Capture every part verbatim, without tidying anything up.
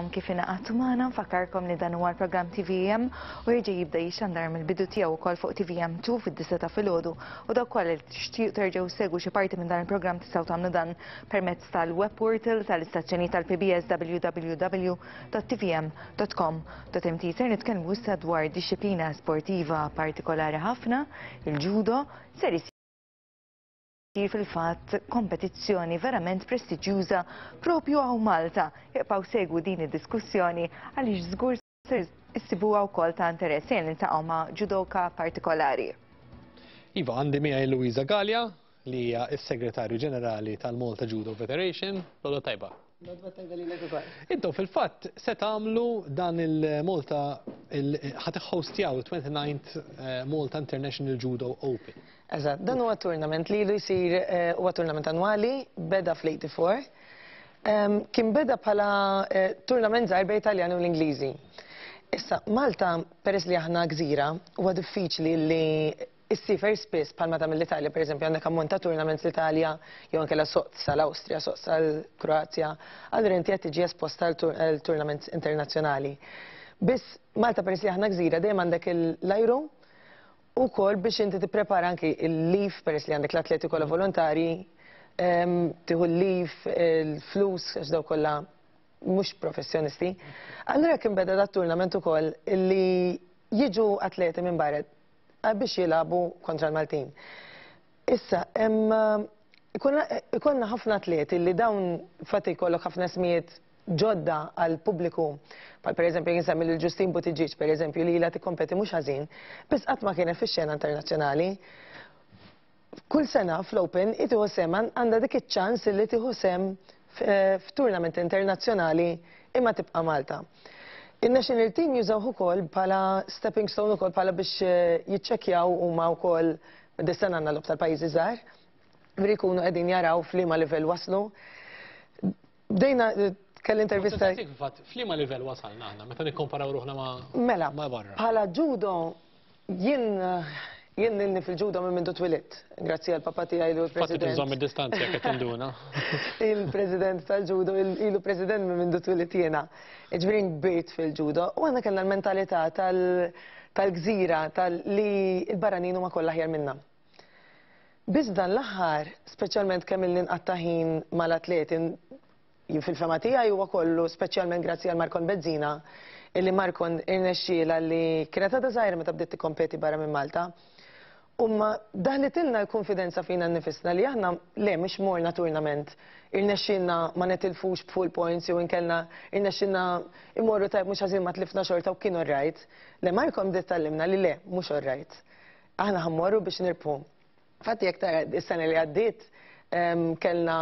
Kif ingħaqadtu magħna, nfakkarkom li dan huwa l-programm T V M u jerġa' jibda jixxandar mill-bidu tiegħu wkoll fuq T V M two fid-disgħa ta' filgħodu, u dawk kollha li tixtiequ terġgħu segwu xi parti minn dan il-programm tistgħu tagħmlu dan permezz tal-web portal tal-istazzjoni tal-P B S, W W W dot T V M dot com dot M T. Ser nitkellmu issa dwar dixxiplina sportiva partikolari ħafna, il-judo. Ser isir fil-fatt kompetizzjoni verament prestiġjuża propju hawn Malta. Ibqgħu segwu din id-diskussjoni għaliex żgur ser issibuha wkoll ta' interess. Se niltaqgħu ma' judoka partikolari. Iva, għandi miegħi Luisa Gallia, li hija s-Segretarju Ġenerali tal-Malta Judo Federation. L-għodwa t-tajba. L-għodwa t-tajba lilek ukoll. Intom fil-fatt se tagħmlu dan il-Malta, ħa tħostjaw il-twenty-ninth eh, Malta International Judo Open. Eżatt, dan huwa tournament li ilu jsir, eh, huwa tournament annwali, beda fl-tminja u tmenin. Em, Kien beda bħala eh, tournament żgħir bejn Italjani u l-Ingliżi. Issa, Malta, peress li aħna gżira, huwa diffiċli li issiefer spiss bħalma ta' mill-Italja, per eżempju, għandek ammont ta' tournaments l-Italja, jew anke soq sal-Awstrija, soq sal-Kroazja, allura inti qed tiġi esposta għal tournaments internazzjonali. Biss Malta, peress li aħna gżira, dejjem għandek l-ajru u kol biex inti tipprepara anki il-leave, peress li għandek l-atleti kollha volontari, em, tieħu l-leave, il-flus, għax daw kollha mhux professjonisti. Allura kien beda dat tournament ukoll li jiġu atleti minn barra biex jilagħbu kontra l-Maltin. Issa, hemm ikollna ħafna atleti li dawn fatti jkollok ħafna ismijiet ġodda għal pubbliku. Bħal per eżempju nsemmi lil Justin Buttigieg, per eżempju, li ilha tikkompeti mhux ħażin, biss qatt ma kienet fix-xena internazzjonali. Kull sena fl-Open tieħu sehem, għandha dik iċ-ċans li tieħu sehem f'tournament internazzjonali imma tibqa' Malta. Il-national team jużaw ukoll bħala stepping stone ukoll, bħala biex eh, jiċċekkjaw huma wkoll. Dis-sena għandna logħob tal-pajjiżi żgħar, bri jkunu qegħdin jaraw f'liema livell waslu. Bdejna eh, kelli intervista. Fil-fatt, f'liema livell wasalna aħna meta nikkomparaw ruħna ma' Mela, ma' barra? Bħala judo, jien jien ilni fil-judo minn mindu twilidt. Grazzi għal papa tiegħi li hu Fatti l-president. tinżomm id-distanza jekk qed tinduna. Il-president tal-judo, il- ilu president minn mindu twilidt jiena. Ġifieri kbirt fil-judo u għandna kellna l-mentalità tal- tal-gżira, tal li il-barranin huma kollha aħjar minna. Biss dan l-aħħar, speċjalment kemm ilni nqatta' ħin mal-atleti, jien fil-fehma tiegħi huwa kollu speċjalment grazzi għal Markon Bezzina, illi Markon irnexxiela li kienet għadha żgħira meta bdiet tikkompeti barra minn Malta. Umma daħlitilna l-konfidenza fina nnifisna li aħna le mhux morna tournament, irnexxilna ma netilfux b'full points jew inkella irnexxilna imorru tajb mhux ħażin, ma tlifna xorta u kien alright. Le, Markon bdiet tgħallimna li le, mhux alright. Aħna ħa mmorru biex nirbħu. Fatti jekk tara is-sena li għaddiet em, kellna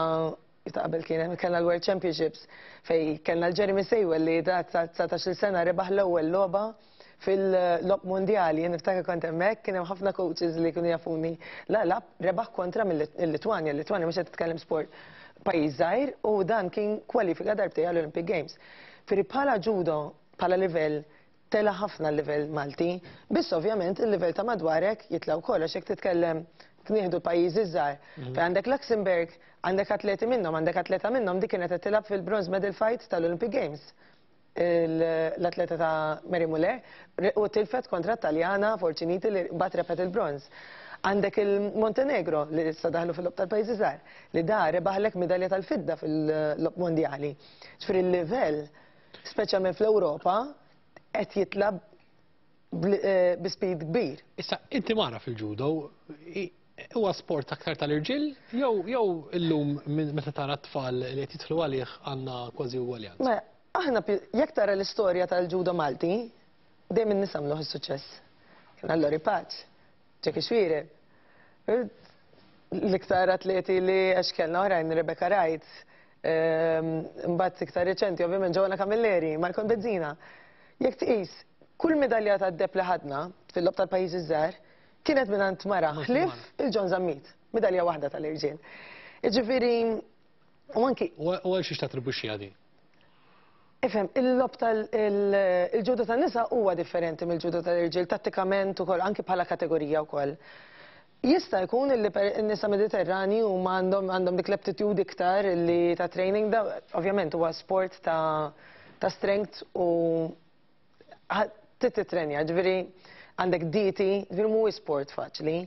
ta' qabel kien kellna l-World Championships fej kellna l-Jeremy Saywell li ta' dsatax-il sena rebaħ l-ewwel logħba fil-logħob mondjali. Jien niftakar kont hemmhekk, kien hemm ħafna coaches li kienu jafuni. La la rebaħ kontra mill-Litwanja, l-Litwanja mhux qed titkellem sport pajjiż żgħir, u dan kien kwalifika darbtejn għall-Olympic Games. Firri bħala judo, bħala livell, tela ħafna l-livell Malti, biss ovvjament il-livell ta' madwarek jitla wkoll, għax jekk titkellem nieħdu pajjiżi żgħar. Fej għandek Luxembourg, għandek atleti minnhom, għandek atleta minnhom dik kienet qed tilgħab fil-bronze medal fight tal-Olympic Games. Il- L-atleta ta' Mary Muller u tilfet kontra Taljana Forciniti li bat rebħet il-bronz. Għandek il-Montenegro li issa daħlu fil-logħob tal-pajjiżi żgħar, li da rebaħlek medalja tal-fidda fil-logħob mondjali. Ġifieri il-livell, speċjalment fl-Ewropa, qed jitla bl- eh, bi speed kbir. Issa, inti mara fil-judo, i- huwa sport aktar tal-irġiel jew jew illum minn meta tara t-tfal li qed jidħlu għalih għandna kważi ugwaljanza? Ma aħna pi- jekk tara l-istorja tal-ġudo Malti, dejjem in-nisa għamluh is-suċċess. Kien Lori Paċ, Jackie Xuereb, l-iktar atleti li għax kellna oħrajn, Rebecca Wright, ehm, mbagħad iktar reċenti ovvjament Joanna Camilleri, Markon Bezzina. Jekk tqis, kull medalja tad-deheb li ħadna fil-logħob tal-pajjiżi żgħar kienet minn mara, ħlief il-John Zammit, medalja waħda tal-irġiel. Jiġifieri, u anki U u għal xiex tattribwixxi għadi? Ifhem, il-logħob tal-ġudo tan-nisa huwa differenti mill-ġudo tal-irġiel, tattikament ukoll, anki bħala kategorija wkoll. Jista' jkun li per in-nisa Mediterrani huma għandhom għandhom dik l-aptitude iktar li ta' training da, ovvjament huwa sport ta' ta' strength u titrenja, ġifieri għandek dieti, ġifieri mhuwiex sport faċli.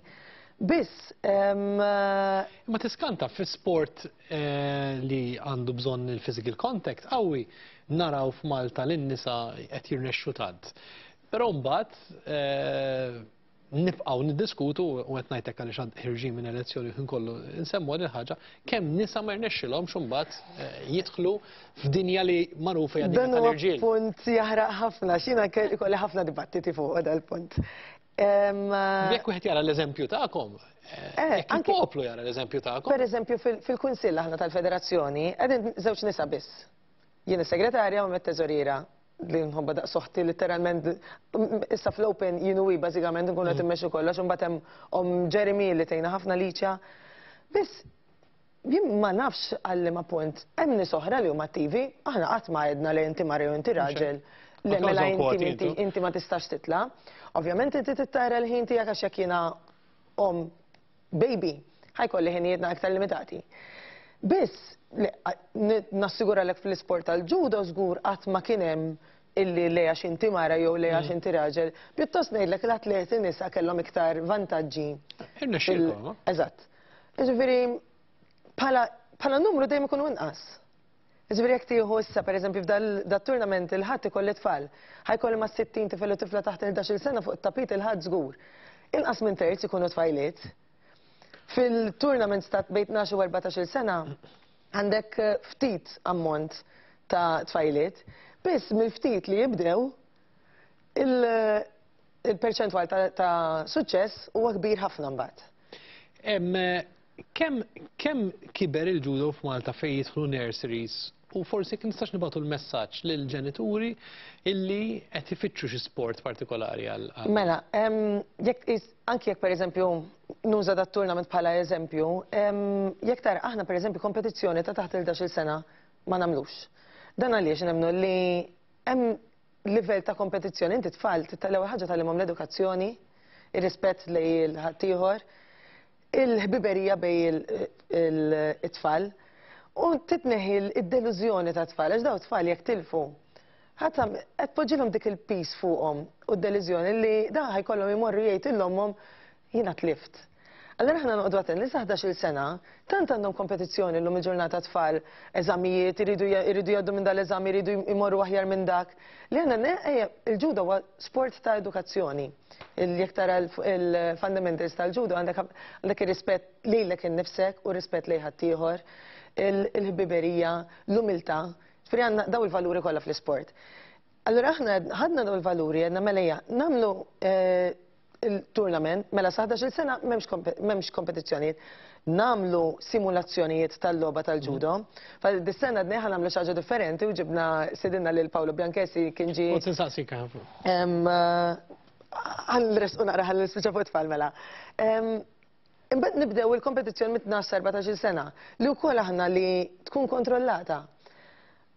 Biss, Ma tiskanta fi sport eh, li għandu bżonn il-physical contact qawwi naraw f'Malta lin-nisa qed jirnexxu tant. Però mbagħad eh, nibqgħu niddiskutu u qed ngħidlek għaliex ħerġin minn elezzjoni ħin kollu nsemmu din il-ħaġa kemm nisa ma jirnexxilhomx imbagħad eh, jidħlu f'dinja li magħrufa hija dinja Dan huwa tal-irġiel. punt jaħraq ħafna, xina ikolli ħafna dibattiti fuq dal-punt. Em, Jekk wieħed jara l-eżempju tagħkom, eh, Eh, jekk anke- il-poplu jara l-eżempju tagħkom, Per eżempju, fil-Kunsill aħna tal-Federazzjoni, qegħdin żewġ nisa biss. Jien is-segretarja u t-teżoriera li nħobba daqs oħti literalment issa fl-Open jien u hi bażikament nkunu qed immexxu kollox u mbagħad hemm om Jeremy li tgħinna ħafna Liċja. Biss jien ma nafx għal ma punt hemm nies oħra li huma attivi, aħna qatt ma għedna li inti mara jew inti raġel. Le Ma mela kawża kwoti inti inti intu. inti ma tistax titla. Ovvjament inti tittara l-ħin tiegħek għax jekk jiena om baby, ħa jkolli ħinijietna aktar limitati. Biss, nassigura lek fl-isport tal-ġudo żgur qatt ma kien hemm illi le għax inti mara jew le għax inti raġel. Pjuttost ngħidlek l-atleti nisa kellhom iktar vantaġġi. Irnexxielkom, no? Eżatt. Ġifieri bħala numru dejjem ikunu inqas. Ġifieri jekk tieħu issa pereżempju f'dat-tournament il-Ħadd ikolli tfal, ħa jkolli ma' sittin tifel u tifla taħt il-ħdax-il sena fuq it-tapit il-Ħadd żgur. Inqas minn terz ikunu tfajliet. Fil-tournaments ta' bejn tnax u erbatax-il sena għandek ftit ammont ta' tfajliet, biss mill-ftit li jibdew il-perċentwal ta' suċċess huwa kbir ħafna mbagħad. Kemm kemm kiber il-ġudo f'Malta fejn jidħlu nurseries u forsi kien nistax nibgħatu l-messaġġ lill-ġenituri illi qed ifittxu xi sport partikolari għal. Mela, jekk anki jekk pereżempju nuża dat tournament bħala eżempju, jekk tara aħna pereżempju kompetizzjoni ta' taħt il-ħdax-il sena ma nagħmlux. Dan għaliex nemmnu li hemm livell ta' kompetizzjoni, inti tfal l-ewwel ħaġa tgħallimhom l-edukazzjoni, ir-rispett lejn il-ħaddieħor, il-ħbiberija bejn it-tfal u titneħi id-delużjoni ta' tfal, għax daw tfal jekk tilfu. Ħadd qed poġġilhom dik il-piż fuqhom u d-delużjoni li da ħa jkollhom imorru jgħid lil ommhom jiena tlift. Allora aħna noqogħdu attenti li sa ħdax-il sena, tant għandhom kompetizzjoni llum il-ġurnata tfal, eżamijiet, iridu jgħaddu minn dal-eżami, iridu jmorru aħjar minn dak. Li għandna il-ġudo huwa sport ta' edukazzjoni. Jekk tara il-fundamentals tal-ġudo għandek ir-rispett lilek innifsek u rispett lejn ħaddieħor, il-ħbiberija, l-umiltà. Ġifieri għandna daw il-valuri kollha fl-isport. Allora aħna ħadna daw il-valuri għedna mela ejja nagħmlu eh, il-tournament, mela sa ħdax-il sena m'hemmx kompetizzjonijiet. Nagħmlu simulazzjonijiet tal-logħba tal-ġudo. Fa dis-sena għedna ħa nagħmlu xi ħaġa differenti u ġibna stedinna lil Paolo Bianchessi kien ġi. U tinsaqsik ħafna. Ħa nresqu naqra ħa nispiċċa fuq tfal mela. Imbagħad nibdew il-kompetizzjoni mit tnax erbatax-il sena li wkoll aħna li tkun kontrollata.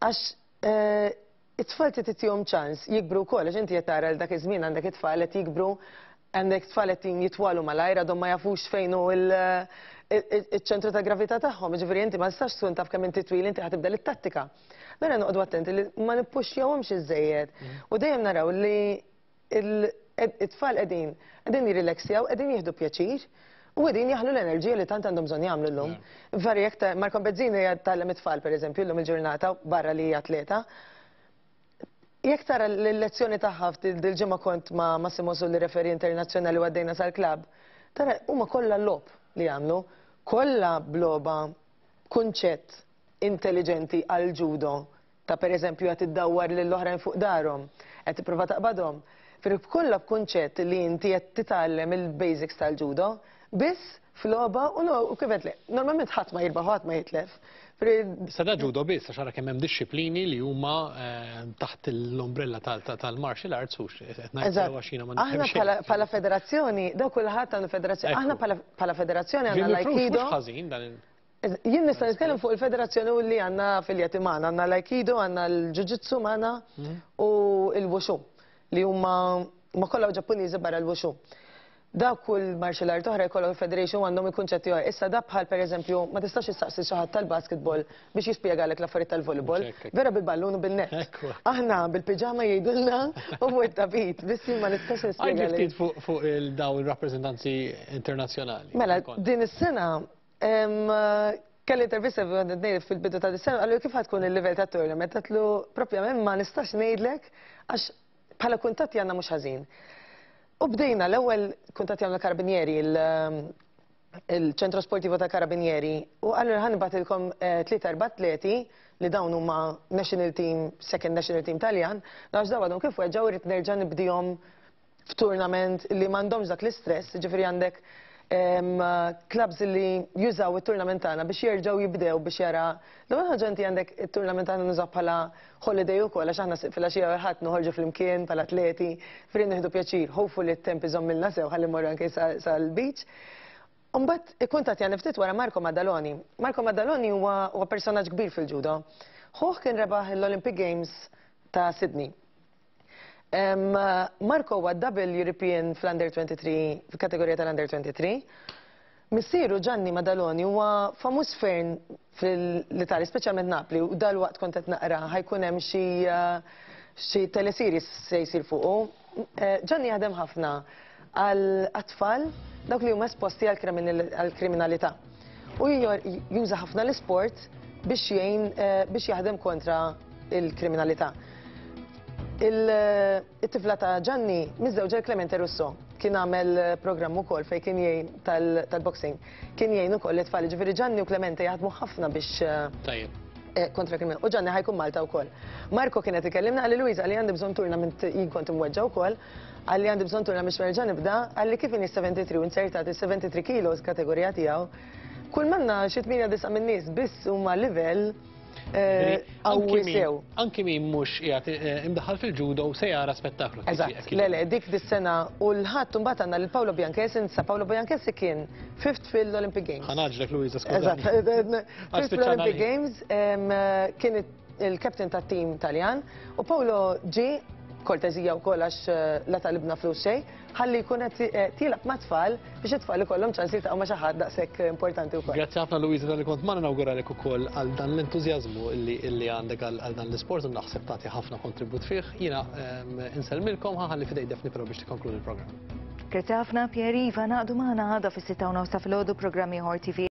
Għax eh, it-tfal titihom ċans jikbru wkoll għax inti qed tara l dak iż-żmien għandek it-tfal qed jikbru, għandek tfal qed jitwalu malajr għadhom ma jafux fejn hu il-ċentru ta' gravità tagħhom, ġifieri inti ma tistax tkun taf kemm inti twil, inti ħa tibda it-tattika. Mela noqogħdu attenti li ma nippuxjawhomx iżejjed. U dejjem naraw li it-tfal qegħdin qegħdin jirrilaxjaw, qegħdin jieħdu pjaċir u qegħdin jaħlu l-enerġija li tant għandhom bżonn jagħmlu llum. Vari jekk Marco Bezzini tgħallem it-tfal pereżempju llum il-ġurnata barra li hija atleta. Jekk tara l-lezzjoni tagħha dil-ġimgħa kont ma' Massimo Sulli, referee internazzjonali, u għaddejna sal-klabb, tara huma kollha logħob li jagħmlu, kollha b'logħba kunċett intelligenti għal ġudo ta' pereżempju qed iddawwar lill-oħrajn fuq darhom, qed tipprova taqbadhom. Firri kollha b'kunċett li inti qed titgħallem il-basics tal-ġudo, biss f'logħba u kif qed le. Normalment ħadd ma jirbaħ, ħadd ma jitlef. Issa da ġudo biss, għax ara kemm hemm dixxiplini li huma eh, taħt l-ombrella tal-martial arts u qed ngħid għax jiena ma Aħna bħala federazzjoni, daw kulħadd għandu federazzjoni. Aħna bħala federazzjoni għandna l-Aikido. Ħażin dan Jien nista' nitkellem fuq il-federazzjoni u li għandna affiljati magħna, għandna l-Aikido, għandna l-Jiu-Jitsu magħna mhm. u l-Wushu li huma ma kollha Ġappuniżi barra l-Wushu. Da kull martial art oħra jkollok federation għandhom il-kunċetti oħra. Issa da bħal, pereżempju, ma tistax issaqsi xi ħadd tal-basketball biex jispjegalek l-affarijiet tal-volleyball. Hekk, hekk. Vera bil-ballun u bin-net. Ekku. Aħna bil-piġama jgħidulna u fuq it-tapit, biss jien ma nistax Għidli nispjegalek. Ftit fuq fuq il-daw il-rappreżentanzi internazzjonali. Mela, Kont. Din is-sena em, kelli intervista fil-bidu ta' dis-sena, qalli kif ħa tkun il-livell ta' tournament, għedtlu propjament ma nistax ngħidlek għax bħala kuntatti għandna mhux ħażin. U bdejna l-ewwel kuntatti għamlu Carabinieri, il- il-ċentro sportivo ta' Carabinieri, u qallu ħa nibgħatilkom tlieta, erba' atleti li dawn huma national team, second national team Taljan, għax daw għadhom kif weġġaw, irrid nerġa' nibdihom f'tournament li m'għandhomx dak l-istress, ġifieri għandek em, clubs li jużaw it-tournament tagħna biex jerġgħu jibdew biex jara. L-ewwel ħaġa, inti għandek it-tournament tagħna nużaw bħala holiday ukoll, għax aħna filgħaxija ħadd noħorġu flimkien bħala atleti, fejn nieħdu pjaċir, hopefully t-temp iżommilna sew ħalli mmorru anke sa- sal-beach. Umbat ikkuntattjani ftit wara Marco Maddaloni. Marco Maddaloni huwa huwa personaġġ kbir fil-ġudo. Ħuh kien rebaħ l-Olympic Games ta' Sydney. Em, Marco huwa double European fl-Under twenty-three, fil-kategorija tal-Under twenty-three. Missieru Gianni Maddaloni huwa famuż ferm fil-Italja, speċjalment Napli, u dal-waqt kont qed naqra ħa jkun hemm xi eh, xi teleseries se jsir fuqu. Eh, Gianni jaħdem ħafna għal atfal dawk li huma esposti għal kriminalità. U juża ħafna l-isport biex jgħin eh, biex jaħdem kontra il-kriminalità. Il-tifla ta' Gianni miżżewġa Clemente Russo, kien għamel programm ukoll fejn kien jgħin tal-boxing. Kien jgħin ukoll it-tfal, ġifieri Gianni u Clemente jaħdmu ħafna biex eh, Tajjeb. eh, kontra kriminal. U Gianni ħa jkun Malta wkoll. Marco kienet ikellimna, qalli, "Luisa," qalli, "għandi bżonn tournament, jien kont imweġġa wkoll, qalli għandi bżonn tournament biex nerġa' nibda," qalli kif inhi sebgħa u tletin u insertat il-seventy-three kilos kategorija tiegħu. Kull manna xi tmienja, disa' minn nies biss huma livell eh, qawwi sew. Anki min mhux qiegħed eh, imdaħħal fil-ġudo se jara spettaklu. Eżatt, le le, dik dis-sena u l-Ħadd mbagħad għandna lil Paolo Bianchessi, insa Paolo Bianchessi kien fifth fil-Olympic Games. Ħa ngħaġġlek, Luisa, Eżatt, skużani. Fifth fil-Olympic Games, em, kien il-captain tat-team Taljan u Paolo ġi kortezija u kol għax eh, la talibna flus xejn, ħalli jkun qed eh, tilgħab ma' tfal biex it-tfal ikollhom ċans jiltaqgħu ma' xi ħadd daqshekk importanti wkoll. Grazzi ħafna, Luisa, talli kont magħna. Nawguralek ukoll għal dan l-entużjażmu illi illi għandek għal għal dan l-isport u naħseb tagħti ħafna kontribut fih. Jiena ehm, insellmilkom, ħa nħalli f'idejn Daphne però biex tikkonkludi l-programm. Grazzi ħafna, Pieri. Iva, ngħaqdu magħna għada fis-sitta u nofs ta' filgħodu, programm ieħor T V.